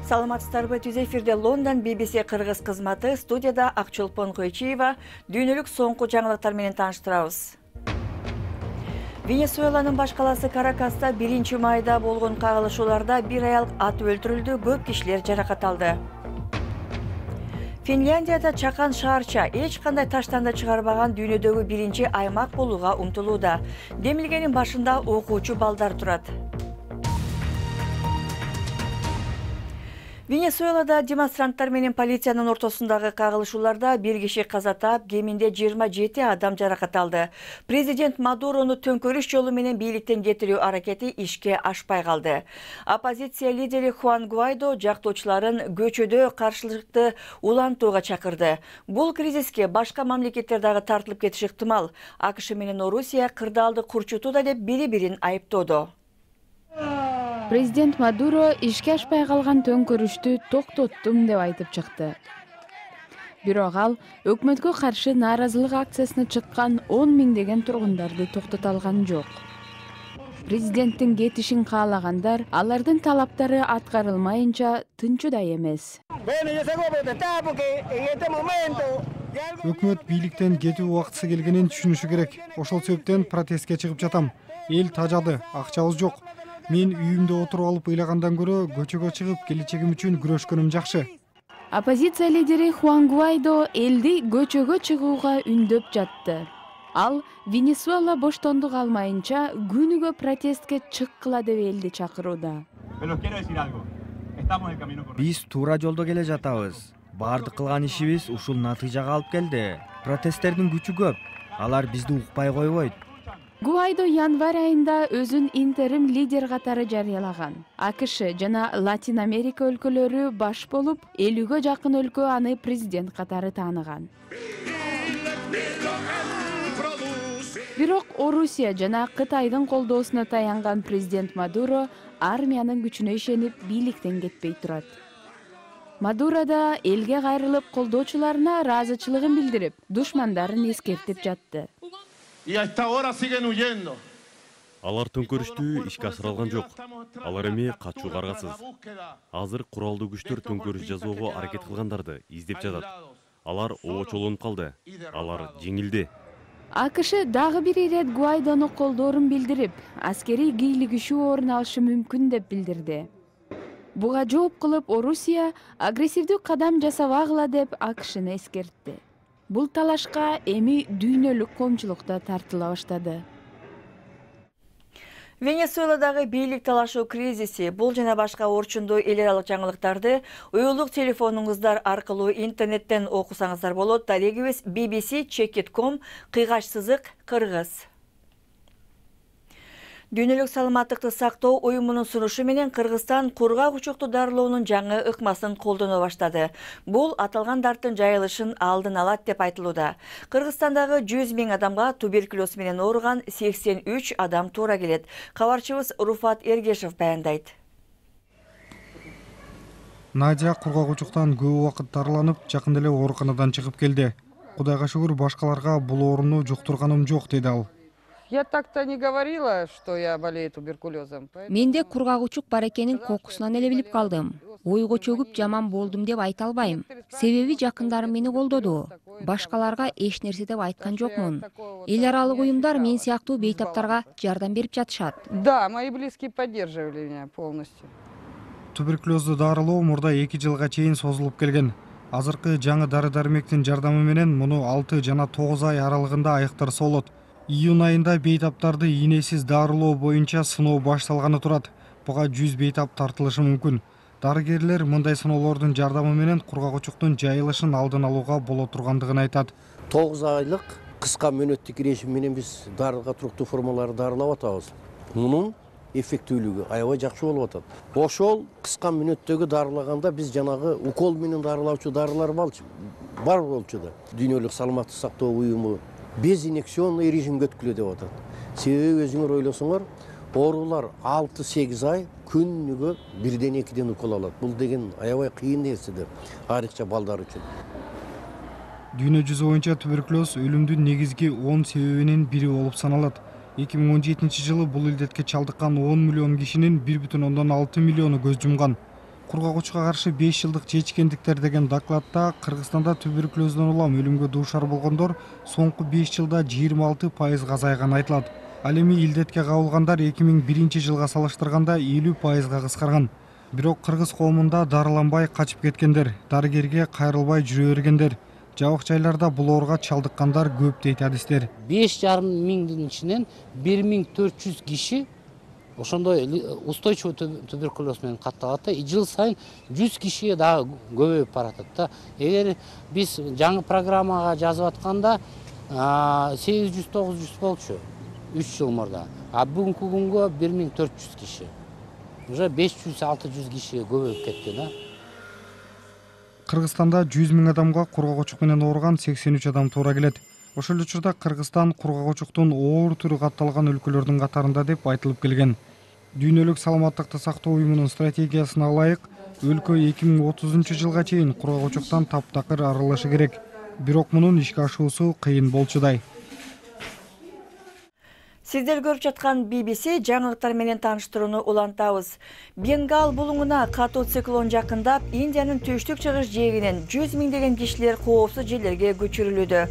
Саламатсыздарбы, түз эфирде Лондон BBC кыргыз кызматы, студияда Акчолпон Койчиева. Дүйнөлүк соңку жаңылыктар менен тааныштырабыз. Венесуэланын баш каласы Каракаста 1-майда болгон кагылышууларда бир аял ат өлтүрүлдү, көп кишилер жаракат алды. Финляндияда чакан шаарча эч кандай таштанды чыгарбаган дүйнөдөгү биринчи аймак болууга умтулууда. Демилгенин башында окуучу балдар турат. Венесуэлада демонстранттар менен полициянын ортосундагы кагылышууларда бир киши каза таап, кеминде 27 адам жаракат алды. Президент Мадурону төңкөрүш жолу менен бийликтен кетирүү аракети ишке ашпай калды. Оппозиция лидери Хуан Гуайдо жактоочуларын көчөдө каршылыкты улантууга чакырды. Бул кризиске башка мамлекеттер дагы тартылып кетиши ыктымал. АКШ менен Орусия кырдаалды курчутууда деп бири-бирин айыптоодо. Президент Мадуро ишке ашпай калган төңкөрүштү токтоттум деп айтып чыкты. Бирок ал өкмөткө каршы нааразылык акциясына чыккан 10 миңдеген тургундарды токтото алган жок. Президенттин кетишин каалагандар алардын талаптары аткарылмайынча тынчудай эмес. Өкмөт бийликтен кетүү убактысы келгенин түшүнүшү керек. Ошол себептен протестке чыгып жатам. Эл тажады, акчабыз жок. Мен үйүмдө отуруп алып ыйлагандан көрө көчөгө чыгып келечегим үчүн күрөшкөнүм жакшы. Оппозиция лидери Хуан Гуайдо элди көчөгө чыгууга үндөп жатты. Ал Венесуэла боштондук алмайынча күнүгө протестке чыккыла деп элди чакырууда. Биз туура жолдо келе жатабыз. Бардык кылган ишибиз ушул натыйжага алып келди. Протесттердин күчү көп. Алар бизди укпай койбойт. Гуайдо январь айында өзүн интерим лидер катары жарыялаган. АКШ жана Латин Америка өлкөлөрү баш болуп, 50-гө жакын өлкө аны президент катары тааныган. Бирок Орусия жана Кытайдын колдоосуна таянган президент Мадуро армиянын күчүнө ишенип бийликтен кетпей турат. Мадуро да элге кайрылып колдоочуларына ыраазычылыгын билдирип, душмандарын эскертип жатты. Алар төңкөрүштү ишке ашырылган жок. Алар эми качууга аргасыз. Азыр куралдуу күчтөр төңкөрүш жасоого аракет кылгандарды издеп жатат. Алар оочолонуп калды. Алар жеңилди. АКШ дагы бир ирет Гуайдону колдоорун билдирип, аскерий кийлигишүү орун алышы мүмкүн деп билдирди. Буга жооп кылып Орусия агрессивдүү кадам жасабагыла деп АКШны эскертти. Бул талашка эми дүйнөлүк коомчулукта тартыла баштады. Венесуэладагы бийлик талашуу кризиси, бул жана башка орчундуу эл аралык жаңылыктарды уюлдук телефонуңуздар аркылуу интернеттен окусаңыздар болот. Дарегибиз bbc.com /кыргыз. Дүйнөлүк саламаттыкты сактоо уюмунун сунушу менен Кыргызстан кургак учукту дарылоонун жаңы ыкмасын колдоно баштады. Бул аталган дарттын жайылышын алдын алат деп айтылууда. Кыргызстандагы 100 000 адамга туберкулез менен ооруган 83 адам туура келет. Кабарчыбыз Руфат Эргешев баяндайт. Надя кургак учуктан көп убакыт дарыланып, жакында эле ооруканадан чыгып келди. Кудайга шүгүр, башкаларга бул ооруну жуктурганым жок, деди ал. Я так-то не говорила, что я болею туберкулезом. Менде кургак учук бар экенин кокусунан эле билип калдым. Ойго чөгүп жаман болдум деп айта албайм. Себеби жакындарым мени колдоду. Башкаларга эч нерсе деп айткан жокмун. Эл аралык уюмдар мен сыяктуу бейтаптарга жардам берип жатышат. Да, мои близкие поддерживали меня полностью. Туберкулезду дарылоо мурда 2 жылга чейин созулуп келген. Азыркы жаңы дары-дармектин жардамы менен муну 6 жана 9 ай аралыгында айыктырса болот. Июнь айында бейтаптарды ийнесиз дарылоо боюнча сыноо башталганы турат. Буга 100 бейтап тартылышы мүмкүн. Дарыгерлер мындай сыноолордун жардамы менен кургак учуктун жайылышын алдын алууга боло тургандыгын айтат. 9 айлык кыска мөөнөттүк режим менен биз дарылга туруктуу формаларды дарылап атабыз. Мунун эффектүүлүгү аябай жакшы болуп атат. Ошол кыска мөөнөттөгү дарылаганда биз жанагы укол менен дарылаучу дарылар бар болчу да. Дүйнөлүк саламаттык сактоо уюму безинфекционный режимге өткүлө деп атат. Себеби өзүңөр ойлосоңор, оорулар 6-8 ай күнүгө 1-2 укол алат. Бул деген аябай кыйын нерсе да, айрыкча балдар үчүн. Дүйнө жүзү боюнча туберкулез өлүмдүн негизги 10 себебинин бири болуп саналат. 2017 жылы бул илдетке чалдыккан 10 миллион кишинин 1,6 миллиону көз жумган. Кургагучка каршы 5 жылдык чечкендиктер деген докладта Кыргызстанда туберкулезден улам өлүмгө дуушар болгондор соңку 5 жылда 26% азайганы айтылат. Ал эми илдетке кабылгандар 2001 жылга салыштырганда 50%га кыскарган. Бирок кыргыз коомунда дарыланбай качып кеткендер, дарыгерге кайрылбай жүрө бергендер, жабык жайларда бул ооруга чалдыккандар көп дейт адистер. 5,5 миңдин ичинен 1400 киши ошондой устойчивый туберкулез менен катталат да, жыл сайын 100 кишиге дагы көбөйүп баратат да. Эгер биз жаңы программага жазып атканда 800-900 болчу 3 жыл мурда. А бүгүнкү күнгө 1400 киши. Уже 500-600 кишиге көбөйүп кетти да. Кыргызстанда 100 миң адамга кургагучук менен ооруган 83 адам туура келет. Ошол эле учурда Кыргызстан кургагучуктун оор түрү катталган өлкөлөрдүн катарында деп айтылып келген. Дүйнөлүк саламаттыкты сактоо уюмунун стратегиясына ылайык, өлкө 2030 жылга чейин кургагучуктан таптакыр арылышы керек. Бирок мунун ишке ашуусу кыйын болчудай. Сиздер көрүп жаткан BBC жаңылыктар менен тааныштырууну улантабыз. Бенгал булуңуна катуу циклон жакындап, Индиянын түштүк-чыгыш жээгинен 100 миңдеген кишилер коопсуз жерлерге көчүрүлүүдө.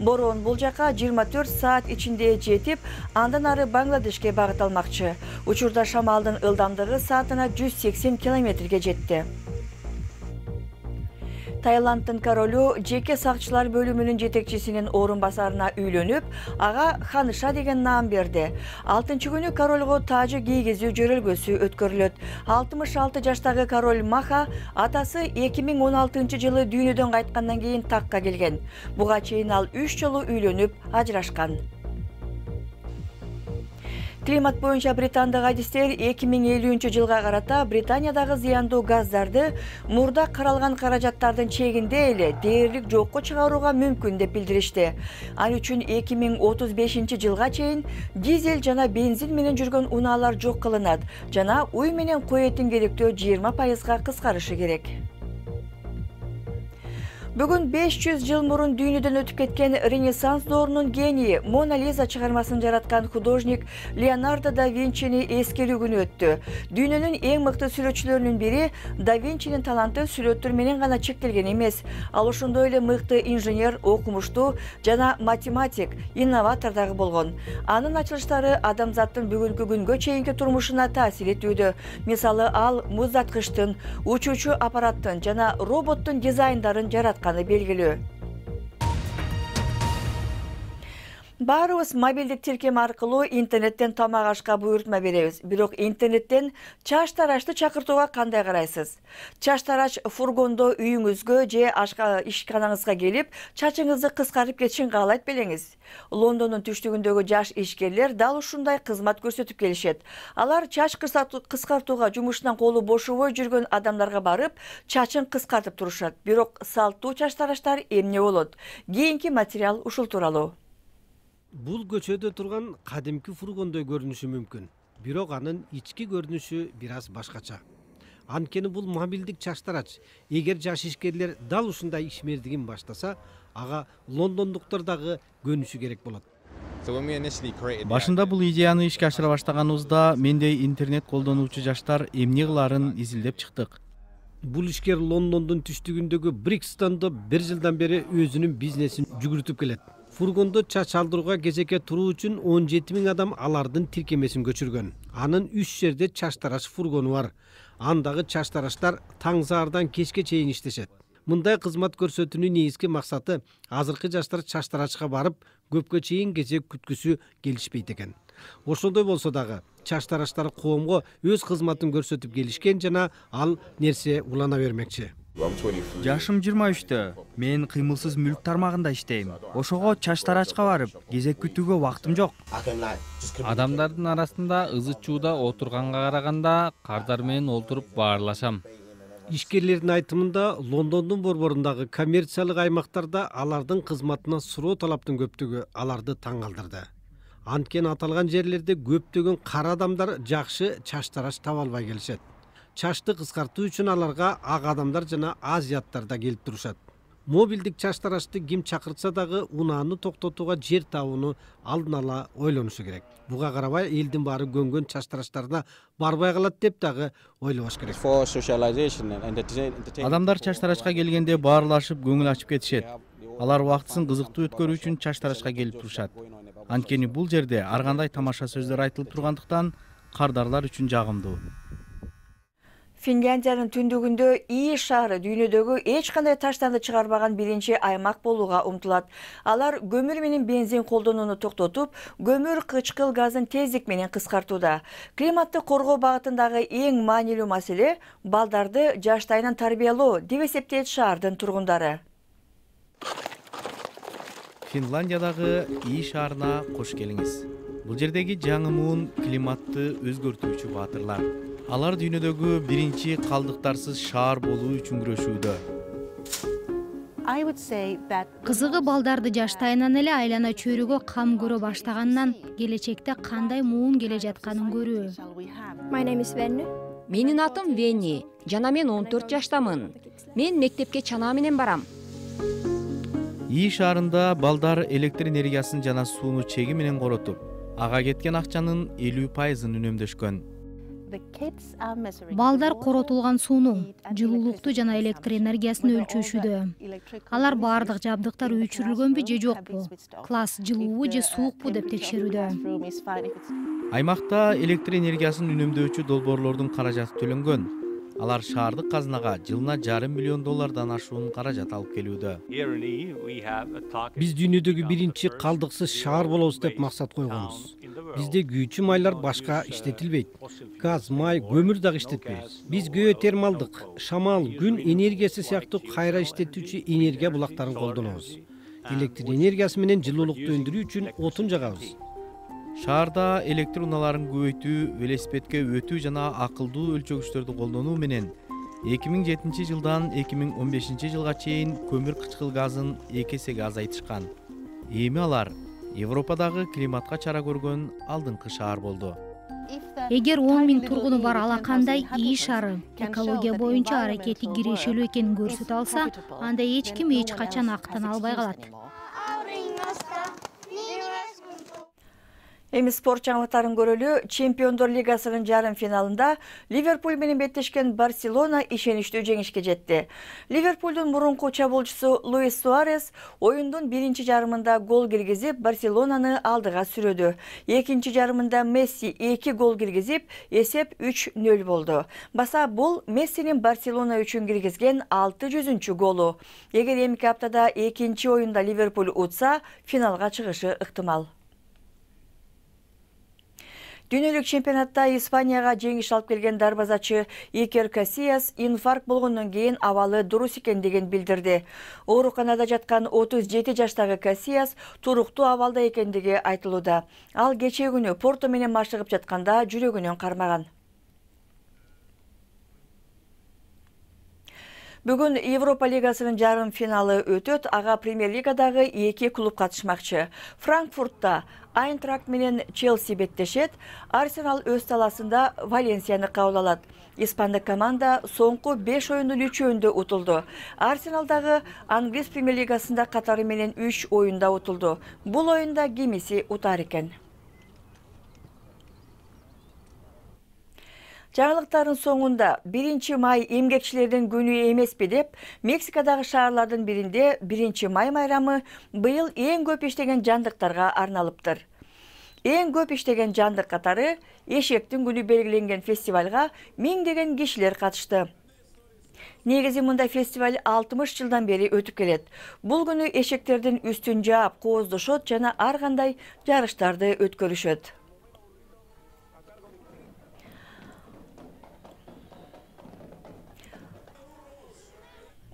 Бороон бул жака 24 саат ичинде жетип, андан ары Бангладешке багыт алмакчы. Учурда шамалдын ылдамдыгы саатына 180 километрге жетти. Таиланддын королу жеке сакчылар бөлүмүнүн жетекчисинин орун басарына үйлөнүп, ага Ханыша деген наам берди. 6-күнү королго тажы кийгизүү жөрөлгөсү өткөрүлөт. 66 жаштагы король Маха атасы 2016 жылы дүйнөдөн кайткандан кийин такка келген. Буга чейин ал 3 жолу үйлөнүп, ажырашкан. Климат боюнча британдык адистер 2050 жылга карата Британиядагы зыяндуу газдарды мурда каралган каражаттардын чегинде эле дээрлик жокко чыгарууга мүмкүн деп билдиришти. Ал үчүн 2035 жылга чейин дизель жана бензин менен жүргөн унаалар жок кылынат жана уй менен кой этин керектөө 20%га кыскарышы керек. Бүгүн 500 жыл мурун дүйнөдөн өтүп кеткен Ренессанс доорунун гении Мона Лиза чыгармасын жараткан художник Леонардо да Винчини эскерүү күнү өттү. Дүйнөнүн эң мыкты сүрөтчүлөрүнүн бири да Винчинин таланты сүрөттөр менен гана чектелген эмес. Ал ошондой эле мыкты инженер, окумуштуу жана математик, инноватор дагы болгон. Анын ачылыштары адамзаттын бүгүнкү күнгө чейинки турмушуна таасир этүүдө. Мисалы, ал муздаткычтын, учуучу аппараттын жана роботтун дизайндарын жараткан белгилүү. Баарыбыз мобилдик тиркем аркылуу интернеттен тамак ашка буйртма беребиз. Бирок интернеттен чач тарачты чакыртууга кандай карайсыз? Чач тарач фургондо үйүңүзгө же ишканаңызга келип, чачыңызды кыскартып кетишин каалайт белеңиз. Лондондун түштүгүндөгү жаш ишкерлер дал ушундай кызмат көрсөтүп келишет. Алар чач кыскартууга жумушунан колу бошобой жүргөн адамдарга барып, чачын кыскартып турушат. Бирок салттуу чач тарачтар эмне болот? Кийинки материал ушул тууралуу. Бул көчөдө турган кадимки фургондой көрүнүшү мүмкүн, бирок анын ички көрүнүшү бир аз башкача. Анткени бул мобилдик чач тарач. Эгер жаш ишкерлер дал ушундай ишмердигин баштаса, ага лондондуктар дагы көнүшү керек болот. Башында бул идеяны ишке ашыра баштаганыбызда мендей интернет колдонуучу жаштар эмне кылаарын изилдеп чыктык. Бул ишкер Лондондун түштүгүндөгү Брикстондо 1 жылдан бери өзүнүн бизнесин жүгүртүп келет. Фургондо чач алдырууга кезекке туруу үчүн 17 миң адам алардын тиркемесин көчүргөн. Анын 3 жерде чач тарач фургону бар. Андагы чач тарачтар таң саардан кечке чейин иштешет. Мындай кызмат көрсөтүүнүн негизги максаты азыркы жаштар чач тарачка барып, көпкө чейин кезек күткүсү келишпейт экен. Ошондой болсо дагы чач тарачтар коомго өз кызматын көрсөтүп келишкен жана ал нерсе улана бермекчи. Жашым 23-тө. Мен кыймылсыз мүлк тармагында иштейм. Ошого чач тарачка барып, кезек күтүүгө убактым жок. Адамдардын арасында ызы-чууда отурганга караганда кардар менен олтуруп баарлашам. Ишкерлердин айтымында Лондондун борборундагы коммерциялык аймактарда алардын кызматына суроо талаптын көптүгү аларды таң калтырды. Анткени аталган жерлерде көптөгөн кара адамдар жакшы чач тарач таба албай келишет. Чачты кыскартуу үчүн аларга ак адамдар жана азияттар да келип турушат. Мобилдик чач тарачты ким чакыртса дагы унааны токтотууга жер табууну алдын ала ойлонушу керек. Буга карабай элдин баары көнгөн чач тарачтарына барбай калат деп дагы ойлобош керек. Адамдар чач тарачка келгенде баарлашып көңүл ачып кетишет. Алар убактысын кызыктуу өткөрүү үчүн чач тарачка келип турушат. Анткени бул жерде ар кандай тамаша сөздөр айтылып тургандыктан кардарлар үчүн жагымдуу. Финляндиянын түндүгүндө Ии шаары дүйнөдөгү эч кандай таштанды чыгарбаган биринчи аймак болууга умтулат. Алар көмүр менен бензин колдонууну токтотуп, көмүр кычкыл газын тездик менен кыскартууда. Климатты коргоо багытындагы эң маанилүү маселе балдарды жаштайынан тарбиялоо деп эсептейт шаардын тургундары. Финляндиядагы Ии шаарына кош келиңиз. Бул жердеги жаңы муун климатты өзгөртүүчү баатырлар. Алар дүйнөдөгү биринчи калдыктарсыз шаар болуу үчүн күрөшүүдө. Кызыгы балдарды жаштайынан эле айлана чөйрөгө кам көрө баштагандан келечекте кандай муун келе жатканын көрүү. Менин атым Вени, жана мен 14 жаштамын. Мен мектепке чанаа менен барам. Ии шаарында балдар электр энергиясын жана сууну чеги менен коротуп, ага кеткен акчанын 50%-ын үнөмдөшкөн. Балдар коротулган сууну, жылуулукту жана электр энергиясын өлчөшүүдө. Алар баардык жабдыктар өчүрүлгөнбү же жокпу, класс жылуубу же суукпу деп текшерүүдө. Аймакта электр энергиясын үнөмдөөчү долбоорлордун каражаты төлөнгөн. Алар шаардык казынага жылына $500 миллион ашуун каражат алып келүүдө. Биз дүйнөдөгү биринчи калдыксыз шаар болобуз деп максат койгонбуз. Бизде күйүүчү майлар башка иштетилбейт. Газ, май, көмүр дагы иштетпейбиз. Биз геотермалдык, шамал, күн энергиясы сыяктуу кайра иштетүүчү энергия булактарын колдонобуз. Электр энергиясы менен жылуулукту өндүрүү үчүн отун жагабыз. Шаарда электр унааларын көбөйтүү, велосипедке өтүү жана акылдуу өлчөгүчтөрдү колдонуу менен 2007 жылдан 2015 жылга чейин көмүр кычкыл газын 2 эсеге азайтышкан. Эми алар Европадагы климатка чара көргөн алдыңкы шаар болду. Эгер 10 000 тургуну бар алакандай Ии шаары экология боюнча аракети кирешелүү экенин көрсөтө алса, анда эч ким эч качан актан албай калат. Эми спорт жаңылыктарын көрөлү. Чемпиондор лигасынын жарым финалында Ливерпуль менен беттешкен Барселона ишеничтүү жеңишке жетти. Ливерпулдун мурунку чабуулчусу Луис Суарес оюндун биринчи жарымында гол киргизип, Барселонаны алдыга сүрөдү. Экинчи жарымында Месси 2 гол киргизип, эсеп 3-0 болду. Баса бул Мессинин Барселона үчүн киргизген 600-чү голу. Эгер эмки аптада экинчи оюнда Ливерпуль утса, финалга чыгышы ыктымал. Дүйнөлүк чемпионатта Испанияга жеңиш алып келген дарбазачы Икер Касияс инфаркт болгондон кийин абалы дурус экендигин билдирди. Ооруканада жаткан 37 жаштагы Касияс туруктуу абалда экендиги айтылууда. Ал кечээ күнү Порто менен машыгып жатканда жүрөгүнөн кармаган. Бүгүн Европа лигасынын жарым финалы өтөт. Ага премьер-лигадагы 2 клуб катышмакчы. Франкфуртта Айнтракт менен Челси беттешет. Арсенал өз таласында Валенсияны кабыл алат. Испандык команда соңку 5 оюндун 3-өндө утулду. Арсенал дагы Англис премьер-лигасында катары менен 3 оюнда утулду. Бул оюнда кимиси утар экен. Жаңылыктардын соңунда 1 май эмгекчилердин күнү эмеспи деп, Мексикадагы шаарлардын биринде 1 май майрамы быйыл эң көп иштеген жандыктарга арналыптыр. Эң көп иштеген жандык катары эшектин күнү белгиленген фестивалга миңдеген кишилер катышты. Негизи мындай фестиваль 60 жылдан бери өтүп келет. Бул күнү эшектердин үстүн жаап, кооздошот жана ар кандай жарыштарды өткөрүшөт.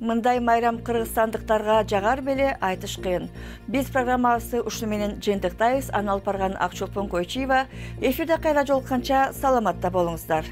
Мындай майрам кыргызстандыктарга жагар беле айтыш кыйын. Биз программабызды ушуну менен жыйынтыктайбыз. Аны алып барган Акчолпон Койчиева. Эфирде кайра жолукканча саламатта болуңуздар.